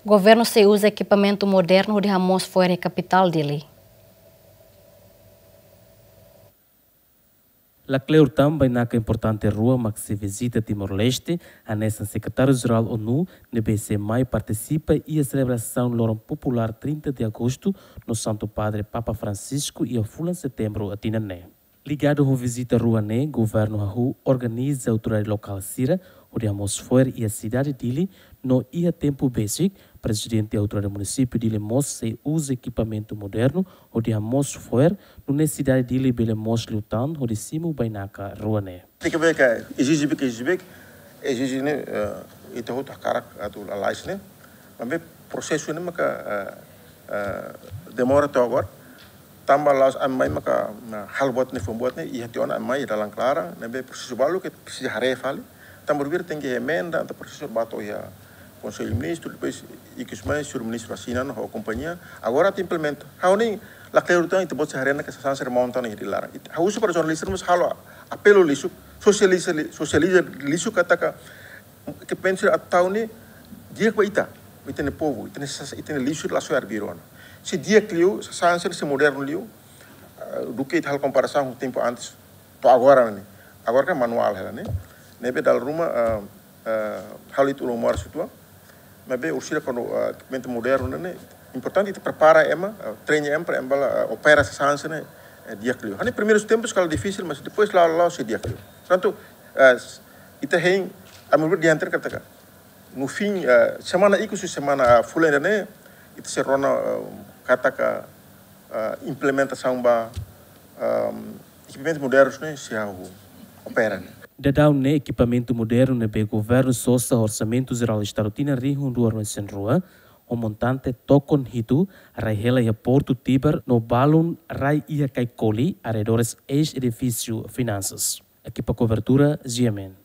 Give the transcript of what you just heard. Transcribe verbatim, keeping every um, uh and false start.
Governu sei uza ekipamentu modernu hodi hamoos fo'er iha kapitál Dili. Lakleur tan bainaka importante rua mak sei vizita Timor-Leste, hanesan Sekretáriu-Jerál ONU ne'ebé sei mai partisipa iha selebrasaun loron populár trinta de agostu no Santu Padre Papa Francisco iha fulan setembru tinan ne'e. Ligadu ho vizita rua ne'e, governu hahú organiza autoridade lokál sira hodi hamoos fo'er iha sidade Dili, no iha tempu besik, prezidente autoridade munisípiu Dili mós sei uza ekipamentu modernu hodi hamoos fo'er, nune'e sidade Dili bele moos liután hodi simu bainaka rua ne'e. Tenke ver ke ezije bek, ezije bek, ezije ne'e, eh, ita hotu hakarak atu lalais ne'e. Maibé prosesu ne'e maka, eh, eh, demora to'o agora. Tanba la'ós ami mai maka, ah, halo buat ne'e, fó buat ne'e, iha tiha ona ami mai dalan klaran, ne'ebé prosesu balu ke presiza haree fali. Tanba tuir tenke emenda, entaun prosesu ba to'o iha Konsellu Ministru, depois ikus mai, señór ministru asina ona ho kompañia. Agora atu implementa. Ha'u ne'e lakleur tan, ita-boot sei haree ona ke sasán sira monta ona iha Dili laran. It-, ha'u husu para jornalista, mós halo apelu lixu, sosializa li-, sosializa lixu katak ekipamentu sira atu tau ne'e di'ak ba ita, ita-nia povu, ita-nia sas-, ita-nia lixu la soe arbiru ona. Se di'ak liu, sasán sira sei modernu liu, eh, duké ita halo komparasaun ho tempu antes, to'o agora ne'e. Agora kan manuál hela ne'e. Ne'ebé dala ruma, eh, eh, halo ita ulun moras uitoan. Maibé orsida ekipamentu modernu ne'e, importante ita prepara ema, eh, treina ema para ema bá, eh, opera sasán sira ne'e, eh, di'ak liu. Hanesan primeiros tempus kala difisil, mas depois la'o, la'o sei di'ak liu. Portantu, eh, s-, ita hein, ami bele di'ak katak no fin, eh, semana ikus, semana, ah, fulan ida-ne'e, ita sei rona, eh, katak, eh, implementasaun ba, ehm, ekipamentu modernu ne'e sei hahú opera ne'e. Daudaun ne'e ekipamentu modernu ne'ebé governu sosa Orsamentu Jerál Estadu tinan rihun rua ruanulu resin rua, ho montante tokon hitu, rai hela iha Portu Tibar no balun rai iha Kaikoli, arredores eis-edifísiu Finansas. Ekipa kobertura, G M N.